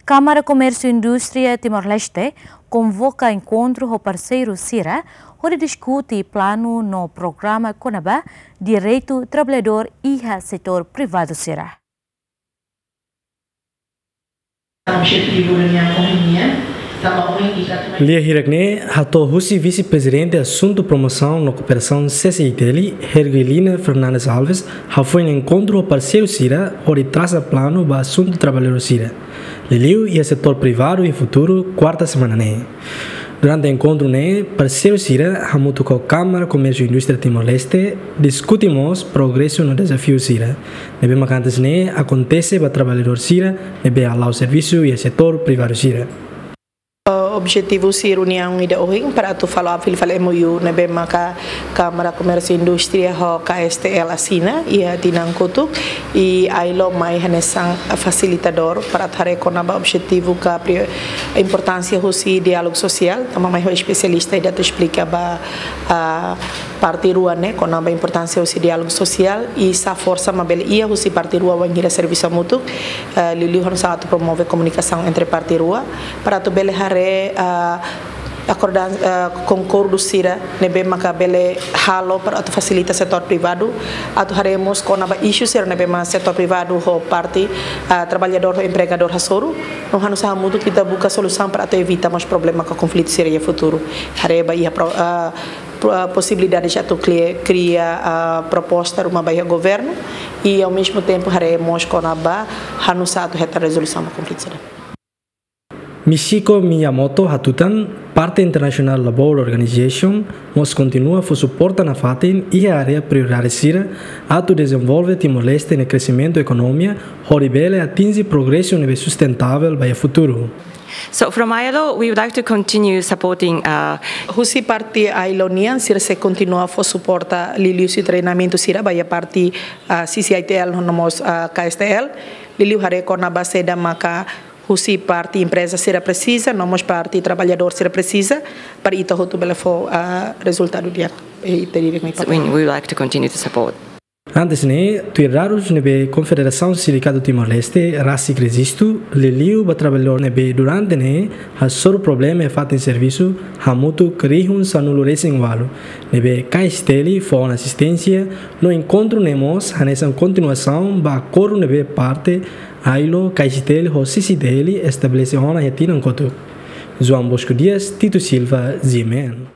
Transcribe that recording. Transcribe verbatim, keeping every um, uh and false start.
Kámara Komérsiu Indústria Timor-Leste konvoka enkontru ho parseiru sira hodi diskute planu no programa kona-ba direitu traballadór iha setór privadu sira. Lia hirak-ne'e hato'o husi Vise-Prezidente Asuntu Promosaun no Kooperasaun, C C I T L, Hergelina Fernandes Alves, hafoin enkontru ho parseiru sira hodi trasa planu ba asuntu traballadór sira, liuliu iha setór privadu iha futuru, kuarta semana ne'e. Durante enkontru ne'e, parseiru sira hamutuk ho Kámara Komérsiu Indústria Timor-Leste diskute mós progresu no dezafiu sira ne'ebé maka antes ne'e akontese ba traballadór sira ne'ebé hala'o servisu iha setór privadu sira. Eh, objetivu husi reuniaun ida ohin para atu follow up fali fali M O U ne'ebé maka Kámara Komérsiu Indústria ho K S T L asina iha tinan kotuk, i ailo mai hanesan fasilitadór para atu haree kona-ba objetivu ka pri-, importánsia husi diálogu sosiál, tanba mai ho espesialista ida atu esplika ba, ah, parte rua ne'e kona-ba importánsia husi diálogu sosiál i sá forsa mak bele iha husi parte rua wainhira servisu hamutuk, eh, liuliu hanesan atu promove komunikasaun entre parte rua para atu bele haree, ah, akordan-, eh, konkordu sira ne'ebé maka bele halo para atu fasilita setór privadu, atu haree mós kona-ba isu sira ne'ebé mak setór privadu ho parte, eh, traballadór ho empregadór hasoru, no hanesan hamutuk ita buka solusaun para atu evita mós problema ka konflitu sira iha futuru. Haree ba iha pro-, eh, pro-, eh, posibilidade atu kri-, kria, eh, proposta ruma ba iha governu, i ao mesmo tempo haree mós kona-ba hanesan atu hetan rezolusaun ba konflitu sira. Michiko Miyamoto hatutan, parte International Labour Organization mós kontinua fó suporta nafatin iha área prioridade sira atu dezenvolve Timor-Leste nia kresimentu ekonomia hodi bele atinje progresu ne'ebé sustentavel ba iha futuru. So from ailo, we would like to continue supporting, uh, Husi parte ailo nian, sira sei kontinua fó suporta liuliu husi treinamentu sira ba iha parte, uh, C C I T L no mós, uh, K S T L, liuliu haree kona-ba saida maka husi parte empreza sira presiza, no mós parte traballadór sira presiza, para ita hotu bele fó, ah, rezultadu di'ak, eh, ita direk mai. So we, we would like to continue to support. Antes ne'e, tuir dadus ne'ebé Konfederasaun Sindikatu Timor-Leste rasik rejistu, liuliu ba traballadór ne'ebé durante ne'e hasoru problema iha fatin servisu, hamutuk rihun sanulu-resin-ualu, ne'ebé K S T L fó ona asisténsia, no enkontru ne'e mós hanesan kontinuasaun ba akordu ne'ebé parte ailo, K S T L ho C C I T L estabelese ona iha tinan kotuk. João Bosco Dias, Tito Silva, G M N.